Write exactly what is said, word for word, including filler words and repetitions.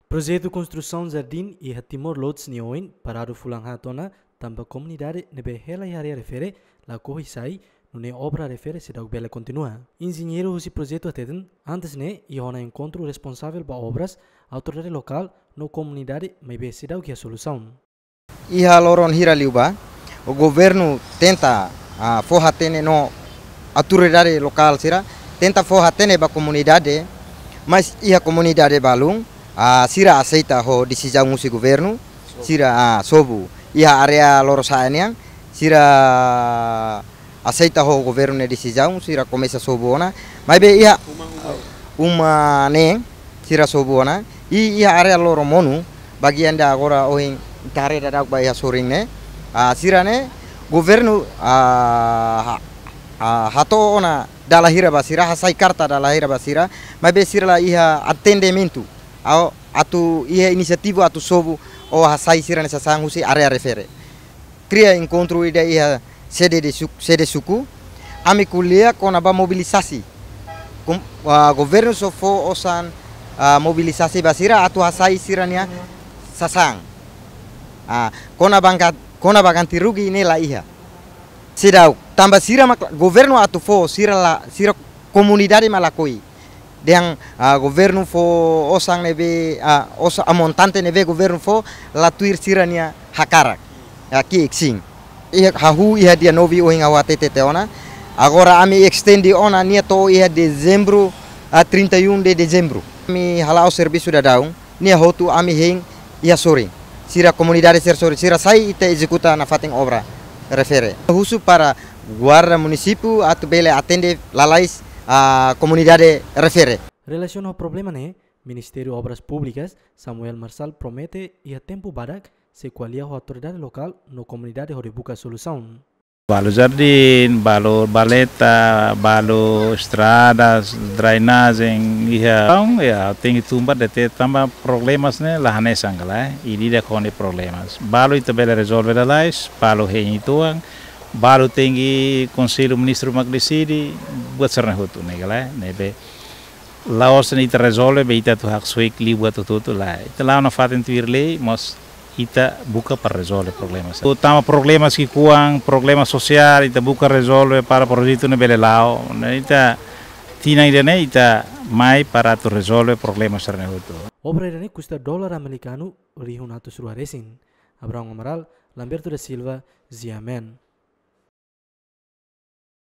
Projetu konstrusaun jardín iha Timor Lodge nia oin paradu fulan haat ona, tanba komunidade ne'ebé hela iha área refere lakohi sai, nune'e obra refere seidauk bele kontinua. Enjeñeiru husi projetu hateten, antes ne'e iha ona enkontru responsavel ba obras, autoridade lokál no komunidade, maibé seidauk iha solusaun. Iha loron hira liu ba, o governu tenta, ah, fó hatene no autoridade lokál sira, tenta fó hatene ba komunidade, mas iha komunidade balun, ah, sira aseita ho desizaun husi governu, sira, ah, sobu. Iha área Lorosa'e nian, sira aseita ho governu nia desizaun, sira komesa sobu ona. Maibé iha uma ne'e, sira sobu ona. I iha área Loromonu, bagian ida agora ohin ita haree daudauk ba iha sorin ne'e. Ah, sira ne'e, governu, ah, ha-, ah, hato'o ona dala hira ba sira, hasai karta dala hira ba sira. Maibé sira la iha atendimentu. Ao atu iha inisiativa atu sobu ou hasai sira-nia sasán husi área refere. Kria enkontru ida iha sede de su-, sede suku. Ami ko'alia kona-ba mobilisasi. Kom-, ah, governu só fó osan, ah, mobilisasi ba sira atu hasai sira-nia sasán. Ah, kona-ba ka-, kona-ba ganti rugi ne'e la iha. Seidauk, tanba sira mak governu atu fó, sira la, sira komunidade mak lakohi. Dehan, ah, governu fó osan ne'ebé, ah, osan, ah, montante ne'ebé governu fó la tuir sira-nia hakarak. Ah, ki'ik sin. Iha hahú iha dia nove ohin ha'u hatete tiha ona. Agora ami estende ona nia to'o iha dezembru, ah, trinta e um de dezembro. Ami hala'o servisu daudaun, nia hotu ami hein iha sorin. Sira komunidade sira sorin, sira sai ita ezekuta nafatin obra refere. Husu para guarda munisípiu atu bele atende lalais, ah, komunidade refere. Relasiona ho problema ne'e, Ministériu Obras Públikas, Samuel Marçal promete iha tempu badak sei ko'alia ho autoridade lokál no komunidade hodi buka solusaun. Balu jardín, balu valeta, balu estradas, drenajen, iha. Entaun, ya, tenke tun ba de'it tanba problemas ne'e la hanesan ka lae, ida-idak ho nia problemas. Balu ita bele rezolve lalais, balu hein uitoan, balu tenke Konsellu Ministru mak deside, buat sira-ne'e hotu ne'e ka lae, ne'ebé la'ós ita rezolve, be ita atu haksoit liu buat hotu-hotu lae. Ita la'o nafatin tuir lei, mas ita buka para rezolve problemas. Tanba problemas ki'ikoan, problema sosiál, ita buka rezolve para projetu ne'e bele la'o. Ne'e ita tinan ida-ne'e ita mai para atu rezolve problemas sira-ne'e hotu. Obra ida-ne'e kusta dolar amerikanu rihun atus rua resin. Abraão Amaral, Lamberto da Silva, G M N.